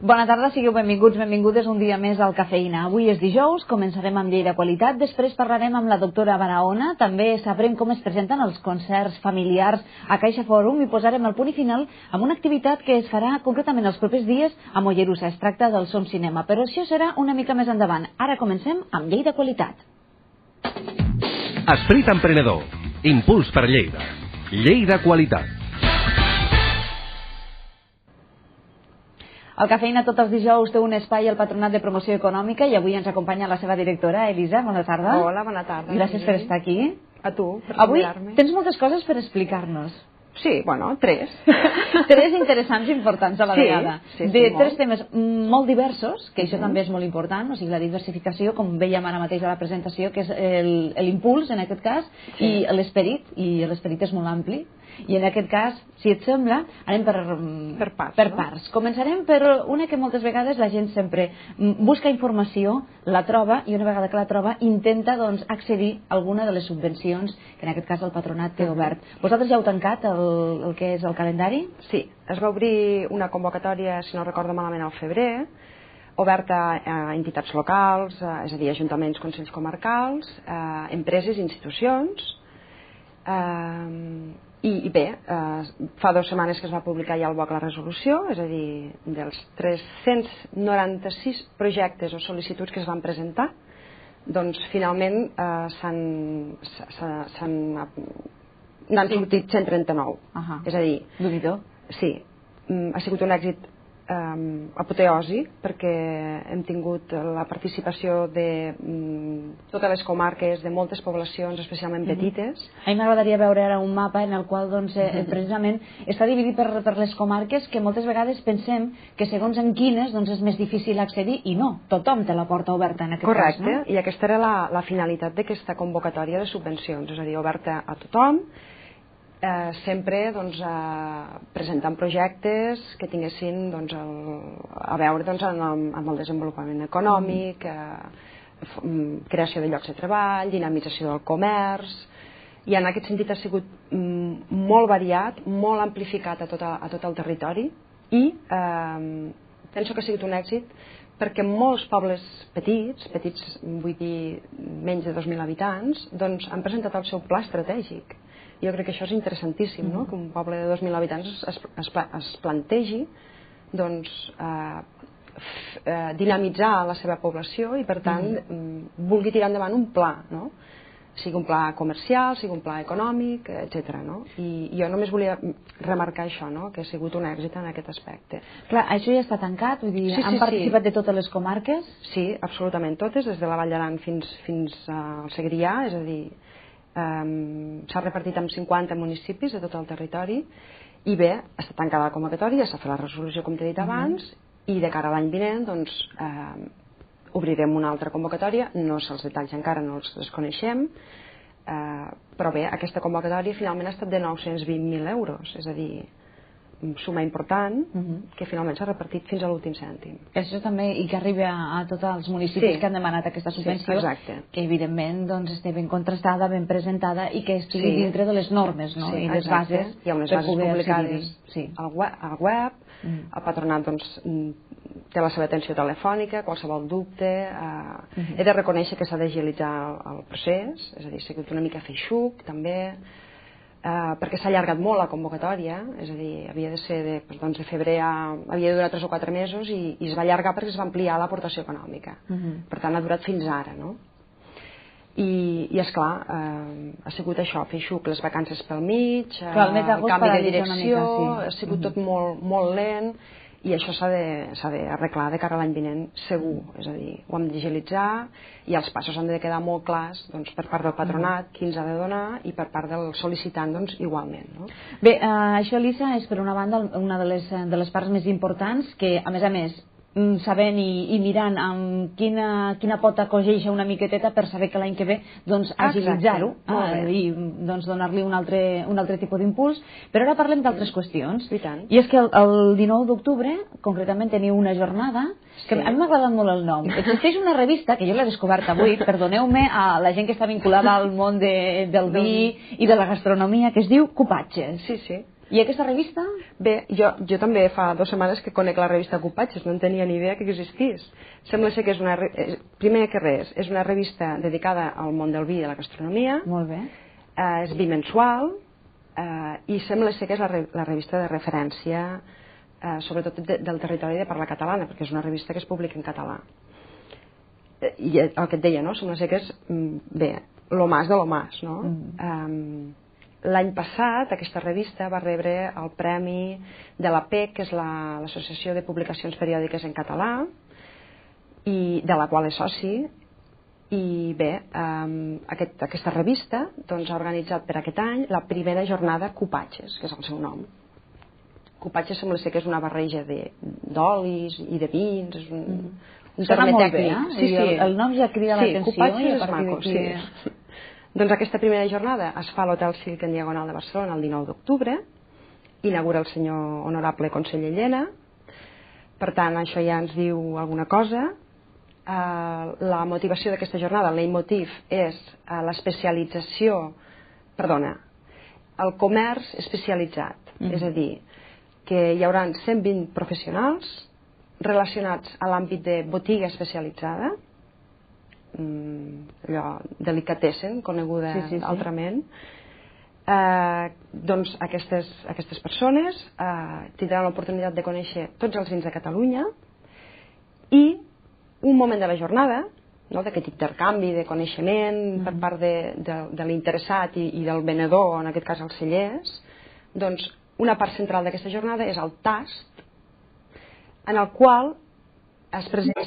Bona tarda, sigueu benvinguts, benvingudes un dia més al Cafeïna. Avui és dijous, començarem amb llei de qualitat, després parlarem amb la doctora Barahona, també sabrem com es presenten els concerts familiars a Caixa Fòrum i posarem el punt i final amb una activitat que es farà concretament els propers dies a Mollerussa. Es tracta del Som Cinema, però això serà una mica més endavant. Ara comencem amb llei de qualitat. Esperit emprenedor. Impuls per Lleida. Llei de qualitat. El Cafeïna tots els dijous té un espai al Patronat de Promoció Econòmica i avui ens acompanya la seva directora, Elisa. Bona tarda. Hola, bona tarda. Gràcies per estar aquí. A tu, per avui convidar-me. Tens moltes coses per explicar-nos. Sí, bueno, tres. Tres interessants i importants a la vegada. Sí, de molt. tres temes molt diversos, que això també és molt important, o sigui, la diversificació, com vèiem ara mateix a la presentació, que és l'impuls, en aquest cas, i l'esperit és molt ampli. I en aquest cas, si et sembla, anem per parts. Per parts. Començarem per una que moltes vegades la gent sempre busca informació, la troba, i una vegada que la troba intenta accedir a alguna de les subvencions que en aquest cas el patronat té obert. Vosaltres ja heu tancat el que és el calendari? Sí, es va obrir una convocatòria, si no recordo malament, al febrer, oberta a entitats locals, és a dir, ajuntaments, consells comarcals, empreses i institucions. I bé, fa 2 setmanes que es va publicar ja al BOC la resolució, és a dir, dels 396 projectes o sol·licituds que es van presentar, doncs finalment n'han sortit 139. És a dir, sí, ha sigut un èxit apoteòsic perquè hem tingut la participació de totes les comarques, de moltes poblacions, especialment petites. A mi m'agradaria veure ara un mapa en el qual precisament està dividit per les comarques que moltes vegades pensem que segons en quines és més difícil accedir i no, tothom té la porta oberta en aquest cas. Correcte, i aquesta era la finalitat d'aquesta convocatòria de subvencions, és a dir, oberta a tothom, sempre presentant projectes que tinguessin a veure amb el desenvolupament econòmic, creació de llocs de treball, dinamització del comerç, i en aquest sentit ha sigut molt variat, molt amplificat a tot el territori, i penso que ha sigut un èxit perquè molts pobles petits, vull dir menys de 2.000 habitants, han presentat el seu pla estratègic. Jo crec que això és interessantíssim, que un poble de 2.000 habitants es plantegi dinamitzar la seva població i per tant vulgui tirar endavant un pla, sigui un pla comercial, sigui un pla econòmic, etc. I jo només volia remarcar això, que ha sigut un èxit en aquest aspecte. Clar, això ja està tancat? Vull dir, han participat de totes les comarques? Sí, absolutament totes, des de la Vall d'Aran fins al Segrià, és a dir, s'ha repartit en 50 municipis de tot el territori i bé, està tancada la convocatòria, s'ha fet la resolució com t'he dit abans i de cara a l'any vinent obrirem una altra convocatòria, no sé els detalls encara, no els desconeixem, però bé, aquesta convocatòria finalment ha estat de 920.000 euros, és a dir, suma important que finalment s'ha repartit fins a l'últim cèntim. Això també, i que arribi a tots els municipis que han demanat aquesta subvenció, que evidentment estigui ben contrastada, ben presentada i que estigui dintre de les normes i les bases. Hi ha unes bases publicades al web, el patronat té la seva atenció telefònica, qualsevol dubte. He de reconèixer que s'ha d'agilitzar el procés, és a dir, s'ha sigut una mica feixuc també, perquè s'ha allargat molt la convocatòria, és a dir, havia de ser de febrer, havia de durar 3 o 4 mesos i es va allargar perquè es va ampliar l'aportació econòmica. Per tant, ha durat fins ara, no? I esclar, ha sigut això, feixuc, les vacances pel mig, canvi de direcció, ha sigut tot molt lent, i això s'ha d'arreglar de cara a l'any vinent segur, és a dir, ho hem d'agilitzar i els passos han de quedar molt clars per part del patronat, qui ens ha de donar, i per part del sol·licitant igualment. Bé, això, Elisa, és per una banda una de les parts més importants que, a més, sabent i mirant amb quina pota cogeixa una miqueteta per saber que l'any que ve agilitzar-ho i donar-li un altre tipus d'impuls. Però ara parlem d'altres qüestions, i és que el 19 d'octubre concretament teniu una jornada que a mi m'ha agradat molt el nom. Existeix una revista que jo l'he descobert avui, perdoneu-me a la gent que està vinculada al món del vi i de la gastronomia, que es diu Cupatges. Sí. I aquesta revista? Bé, jo també fa 2 setmanes que conec la revista Cupatges, no en tenia ni idea que existís. Sembla ser que és primer que res, és una revista dedicada al món del vi i de la gastronomia. Molt bé. És bimensual i sembla ser que és la revista de referència sobretot del territori de parla catalana, perquè és una revista que es publica en català. I el que et deia, no? Sembla ser que és, bé, lo más de lo más, no? L'any passat aquesta revista va rebre el premi de la PEC, que és l'Associació de Publicacions Periòdiques en Català, i de la qual és soci, i bé, aquesta revista doncs, ha organitzat per aquest any la primera jornada Cupatges, que és el seu nom. Cupatges sembla ser que és una barreja d'olis i de vins, és un terme tècnic. Sí, el nom ja crida l'atenció. Sí, Cupatges és maco, sí. Doncs aquesta primera jornada es fa a l'Hotel Silk en Diagonal de Barcelona el 19 d'octubre, inaugura el senyor honorable conseller Llena, per tant això ja ens diu alguna cosa. La motivació d'aquesta jornada, el leitmotiv, és l'especialització, el comerç especialitzat, és a dir, que hi haurà 120 professionals relacionats a l'àmbit de botiga especialitzada, allò delicatessen, coneguda altrament. Doncs aquestes persones tindran l'oportunitat de conèixer tots els vins de Catalunya i un moment de la jornada, d'aquest intercanvi de coneixement per part de l'interessat i del venedor, en aquest cas els cellers, doncs una part central d'aquesta jornada és el tast, en el qual es presenta